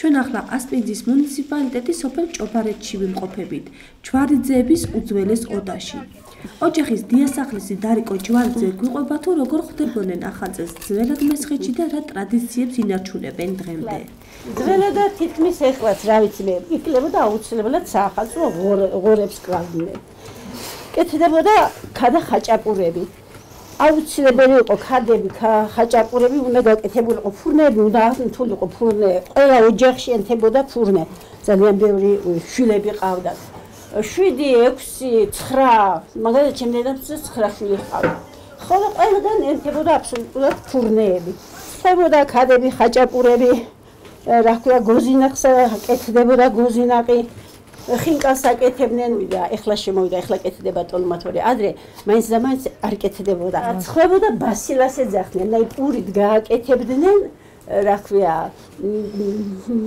ჩვენ ახლა ასპინძის მუნიციპალიტეტის სოფელ ჭობარეთში ვიმყოფებით, ჯვარიძეების უძველეს ოდაში. ოჯახის დიასახლისი დარიკო ჯვარიძე გვიყვება თუ როგორ ხვდებოდნენ ახალწელს ძველად მესხეთში და რა ტრადიციებს ინარჩუნებენ დღემდე. ძველად და თითქმის ეხლაც რა ვიცი მე, იკლებოდა აუცილებლად საახალწლო ღორებს კრავდნენ. კეთდებოდა ქადა ხაჭაპურები. აუცილებელი იყო ქადები, ხაჭაპურები უნდა გაკეთებულიყო, ფურნეები უნდა ართულიყო, ფურნე. ყველა ოჯახში ენთებოდა ფურნე. ძალიან ბევრი შვილები ყავდათ. 7, 6, 9, მაგალითად ჩემ დედამისს 9 შვილი ჰყავდა. ხოლო ყველგან ენთებოდა აბსოლუტურად ფურნეები. ხდებოდა ქადები, ხაჭაპურები, რა ქვია, გოზინახს კეთდებოდა გოზინაყი. ხინკალს აკეთებდნენ და ეხლა შემოვიდა, ეხლა კეთდება ტოლმათორი. ადრე მაინც და მაინც არ კეთდებოდა. ცხლებოდა ბასილას ეძახდნენ, და პურით გააკეთებდნენ, რა ქვია,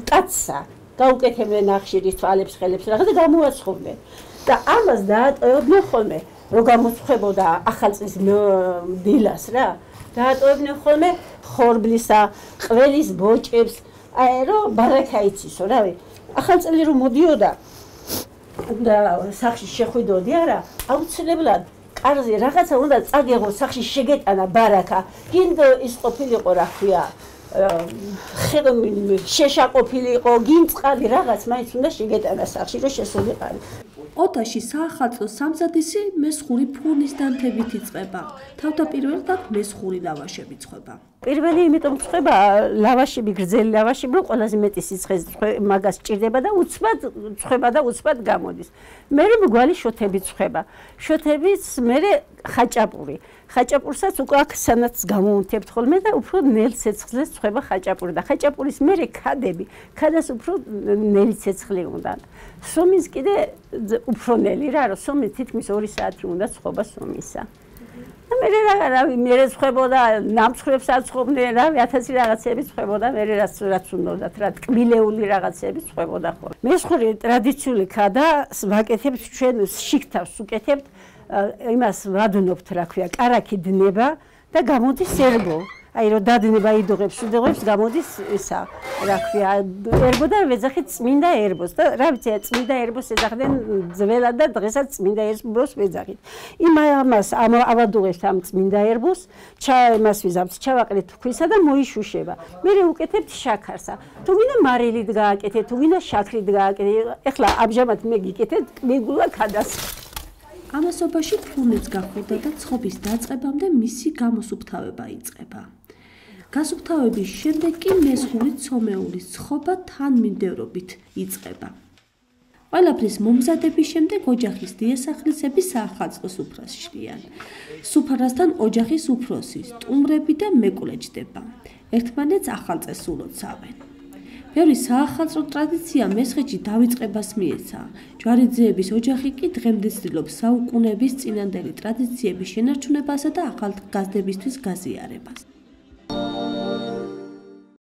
კაცსა. გაუკეთებდნენ ახშირის თვალებს, ხელებს რაღაც და გამოაცხობდნენ. და ამას დაატოვებდნენ ხოლმე, რომ გამოცხებოდა ახალწლის დილას რა. დაატოვებდნენ ხოლმე ხორბლისა, ყველის ბოჭებს, რომ ბარაკა იცისო, რავი. ახალწელი რომ მოდიოდა და სახში შეხვიდოდი არა, აუცილებლად კარზე რაღაცა უნდა წაგეღო, სახში შეგეტანა ბარაკა. გინდ ის ყოფილიყო, რა ქვია, შეშა ყოფილიყო, გინდ წყალი რაღაც მაინც უნდა შეგეტანა სახში, რომ შესულიყარი. ოდაში საახალწლო სამზადისი მესხური ფურნის დანთებით იწყება. თავდაპირველად აქ მესხური ლავაშები ცხება. პირველი იმიტომ ცხება ლავაშები, გრძელი ლავაშები, რომ ყველაზე მეტი სიცხეს მაგას ჭირდება და უცბად ცხება და უცბად გამოდის. მერე მგვალი შოთები ცხება. შოთების მერე ხაჭაპური. ხაჭაპურსაც უკვე აქ სანაც გამოუნთებთ ხოლმე და უფრო ნელ ცეცხლს ცხება ხაჭაპური და ხაჭაპურის მერე ქადები. ქადას უფრო ნელი ცეცხლი უნდა. სომის კიდე უფრო ნელი რა, რომ სომი თითქმის 2 საათი უნდა ცხობა სომისა. მერე რავი, მერე ცხებოდა, ნამცხრებს აცხობდნენ, რავი, 1000 რაღაცები ცხებოდა, მერე რაც უნდათ, რა ტკბილეული რაღაცები ცხებოდა ხოლმე. მესხური ტრადიციული ქადას ვაკეთებთ ჩვენ შიგთავს უკეთებთ, იმას ვადნობთ, რა ქვია, კარაქი დნება და გამოდის ერბო. აი რომ დადნება იდოღებს, გამოდის ისა, რა ქვია, ერბო და ვეძახით წმინდა ერბოს და რა ვიცი, წმინდა ერბოს ეძახდნენ ძველად და დღესაც წმინდა ერბოს ვეძახით. იმას ავადუღებთ ამ წმინდა ერბოს, იმას ვიზამთ, ჩავაყრით ქვისა და მოიშუშება. მერე უკეთებთ შაქარსა. თუ გინდა მარილით გააკეთეთ, თუ გინდა შაქრით გააკეთეთ. ეხლა ამჟამად მე გიკეთეთ მეგულა ქადას. ამასობაში ფურნიც გახურდა და ცხობის დაწყებამდე მისი გამოსუფთავება იწყება. გასუფთავების შემდეგ კი მესხური ცომეულის ცხობა თანმიმდევრობით იწყება. ყველაფრის მომზადების შემდეგ ოჯახის დიასახლისები საახალწლოს უფრას შლიან. სუფრასთან ოჯახის უფროსი, სტუმრები და მეკვლე ჯდება. ერთმანეთს ახალწელს ულოცავენ. ბევრი საახალწლო ტრადიცია მესხეთში დავიწყებას მიეცა. ჯვარიძეების ოჯახი კი დღემდე ცდილობს საუკუნეების წინანდელი ტრადიციების შენარჩუნებასა და ახალგაზრდებისთვის გაზიარებას.